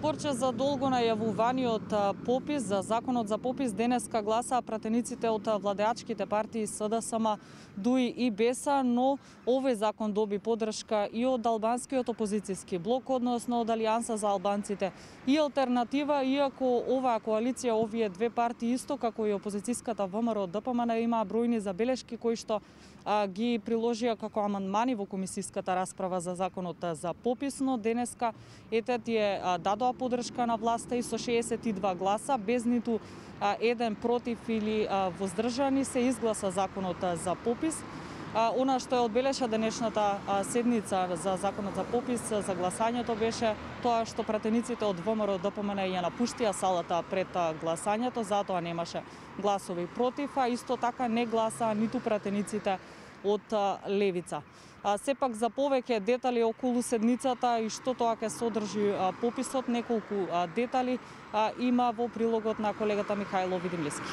Спорче за долго најавуваниот попис за законот за попис денеска гласаа пратениците од владеачките партии СДСМ, ДУИ и БЕСА, но овој закон доби поддршка и од албанскиот опозицијски блок, односно од Алијанса за албанците и Алтернатива, иако оваа коалиција, овие две партии исто како и опозицијската ВМРО ДПМН имаа бројни забелешки кои што ги приложија како амандмани во комисиската расправа за законот за попис, но денеска тие дадоа поддршка на власта и со 62 гласа, без ниту еден против или воздржани, се изгласа законот за попис. Она што е одбележа денешната седница за законот за попис, за гласањето, беше тоа што пратениците од ВМРО ДПМН ја напуштија салата пред гласањето, затоа немаше гласови против, а исто така не гласаа ниту пратениците од левица. Сепак за повеќе детали околу седницата и што тоа ќе содржи пописот, неколку детали има во прилогот на колегата Михајло Видимлиски.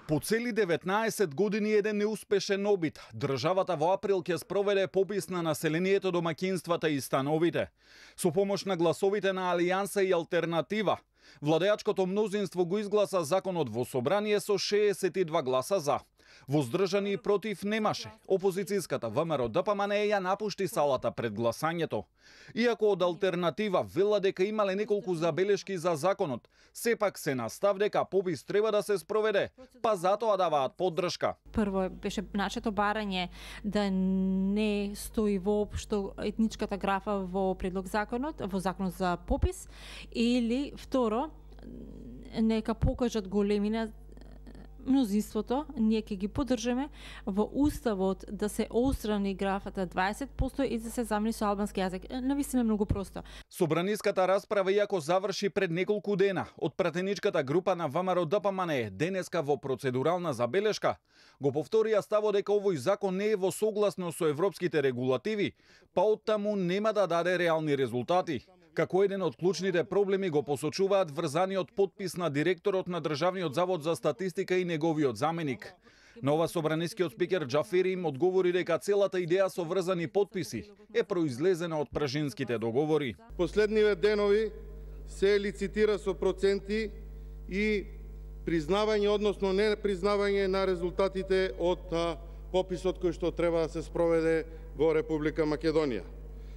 По цели 19 години еден неуспешен обид, државата во април ќе спроведе попис на населението, домаќинствата и становите. Со помош на гласовите на Алијанса и Алтернатива, владеачкото мнозинство го изгласа законот во собрание со 62 гласа за. Воздржани и против немаше. Опозицијската ВМРО ДПМН ја напушти салата пред гласањето. Иако од Алтернатива вела дека имале неколку забелешки за законот, сепак се настав дека попис треба да се спроведе, па затоа даваат поддршка. Прво беше нашето барање да не стои воопшто етничката графа во предлог законот, во законот за попис, или второ, нека покажат големина мнозинството, ние ќе ги поддржаме во уставот да се острани графата 20% и да се замени со албански јазик. Навистина многу просто. Собраниската расправа иако заврши пред неколку дена, од пратеничката група на ВМРО ДПМН денеска во процедурална забелешка го повторија ставот дека овој закон не е во согласно со европските регулативи, па оттаму нема да даде реални резултати. Како еден од клучните проблеми го посочуваат врзаниот подпис на директорот на Државниот завод за статистика и неговиот заменик. Нова собранискиот спикер Џафери им одговори дека целата идеја со врзани подписи е произлезена од пражинските договори. Последниве денови се лицитира со проценти и признавање, односно не признавање на резултатите од пописот кој што треба да се спроведе во Република Македонија.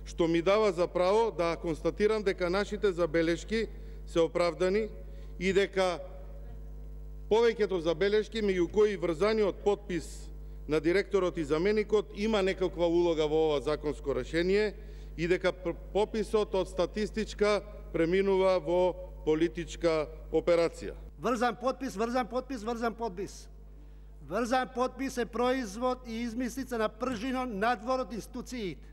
Што ми дава за право да констатирам дека нашите забелешки се оправдани и дека повеќето забелешки, меѓу кои врзаниот подпис на директорот и заменикот, има некаква улога во ова законско решение и дека пописот од статистичка преминува во политичка операција. Врзан подпис, врзан подпис, врзан подпис. Врзан подпис е производ и измислица на пржино надвор од институциите,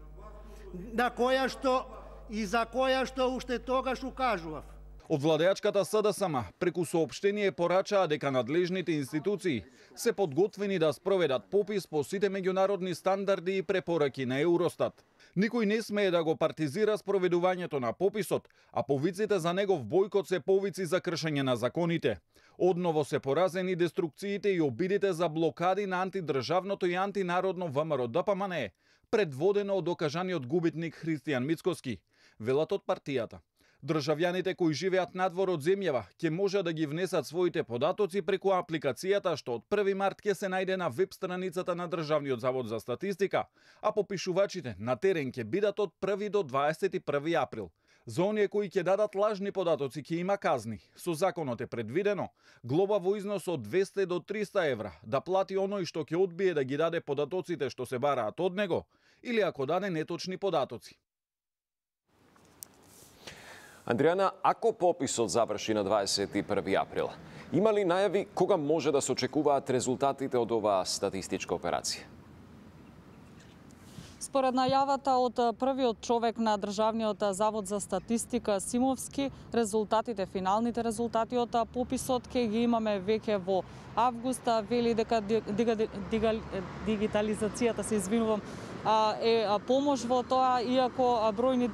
на која што и за која што уште тогаш укажував. Од владеачката СДСМ преку соопштение порачаа дека надлежните институции се подготвени да спроведат попис по сите меѓународни стандарди и препораки на Евростат. Никој не смее да го партизира спроведувањето на пописот, а повиците за негов бојкот се повици за кршење на законите. Одново се поразени деструкциите и обидите за блокади на антидржавното и антинародно ВМРО ДПМН, предводено од окажаниот губитник Христијан Мицкоски, велат од партијата. Државјаните кои живеат надвор од земјава ќе може да ги внесат своите податоци преку апликацијата што од 1 март ќе се најде на веб страницата на Државниот завод за статистика, а попишувачите на терен ќе бидат од 1 до 21 април. За оние кои ќе дадат лажни податоци ќе има казни. Со законот е предвидено глоба во износ од 200 до 300 евра да плати оној што ќе одбие да ги даде податоците што се бараат од него или ако даде неточни податоци. Андријана, ако пописот заврши на 21 април, има ли најави кога може да се очекуваат резултатите од оваа статистичка операција? Според најавата од првиот човек на Државниот завод за статистика Симовски, резултатите, финалните резултати од пописот ќе ги имаме веќе во август. Вели дека дигитализацијата, се извинувам, е помош во тоа, иако на бројни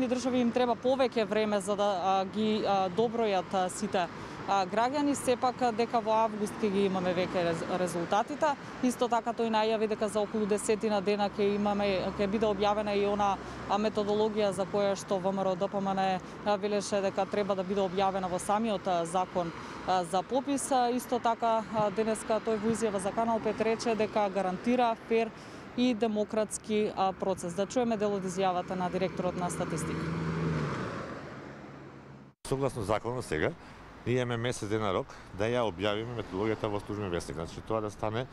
држави им треба повеќе време за да ги добројат сите граѓани, сепак дека во август ќе ги имаме веќе резултатите. Исто така тој најави дека за околу 10 дена ќе биде објавена и она методологија за која што ВМРО ДПМН велеше дека треба да биде објавена во самиот закон за попис. Исто така денеска тој во изјава за Канал 5 рече дека гарантира фер и демократски процес. Да чуеме дел од изјавата на директорот на статистика. Согласно законот сега, ние имаме месец дена рок да ја објавиме методологијата во службен вестник. Значи тоа да стане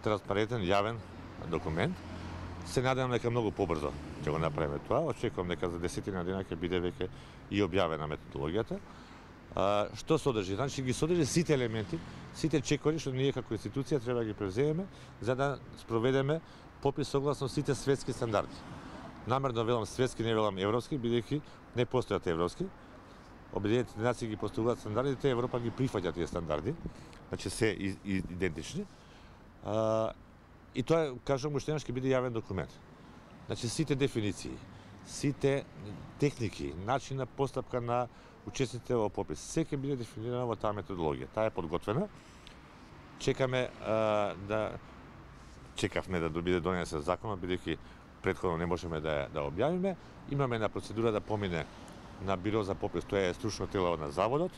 транспарентен, јавен документ. Се надевам дека многу побрзо ќе го направиме тоа. Очекувам дека за 10 дена ќе биде веќе и објавена методологијата. Што содржи? Значи ги содржи сите елементи, сите чекори што ние како институција треба да ги превземеме за да спроведеме попис согласно сите светски стандарди. Намерно велам светски, не велам европски, бидејќи не постојат европски. Обединетите нации ги поставуваат стандардите, Европа ги прифаќа тие стандарди, значи се идентични. И тоа, кажам уште еднаш, ќе биде јавен документ. Значи сите дефиниции, сите техники, начин на постапка на учесниците во попис, се ќе биде дефинирано во таа методологија. Таа е подготвена. Чекавме да биде донесен законот, бидејќи претходно не можеме да објавиме. Имаме една процедура да помине на Биро за попис, тоа е стручно тело на заводот,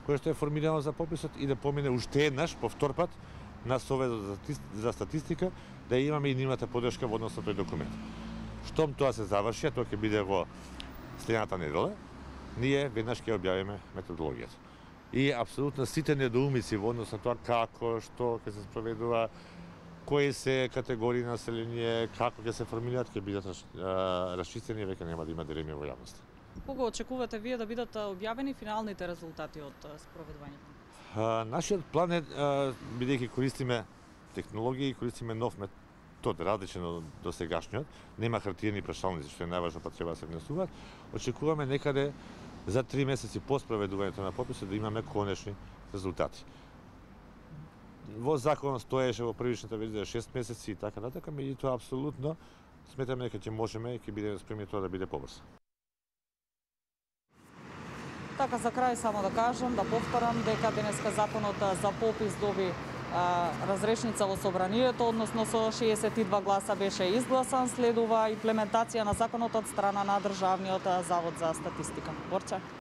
кое што е формирано за пописот, и да помине уште еднаш, по втор пат, на Советот за статистика, да имаме и нивната поддршка во однос на тој документ. Штом тоа се заврши, тоа ќе биде во следната недела, ние веднаш ќе објавиме методологијата. И апсолутно сите недоумици во однос на тоа како, што ќе се спроведува, кои се категории население, како ќе се формираат, ќе бидат расчистени и веќе нема да има дилеми во јавноста. Кога очекувате вие да бидат објавени финалните резултати од спроведувањето? Нашиот план е, бидејќи користиме технологии, користиме нов метод, различен од досегашниот, нема хартиени прашалници, што е најважно, па треба да се внесуваат. Очекуваме некаде за 3 месеци по спроведувањето на пописот да имаме конечни резултати. Во законот стоеше во првичната верзија 6 месеци и така натака, меѓутоа апсолутно сметаме дека ќе можеме и ќе бидеме спремни тоа да биде побрзо. Така, за крај само да кажам, да повторам дека денеска законот за попис доби разрешница во собранието, односно со 62 гласа беше изгласан, следува имплементација на законот од страна на Државниот завод за статистика. Борче.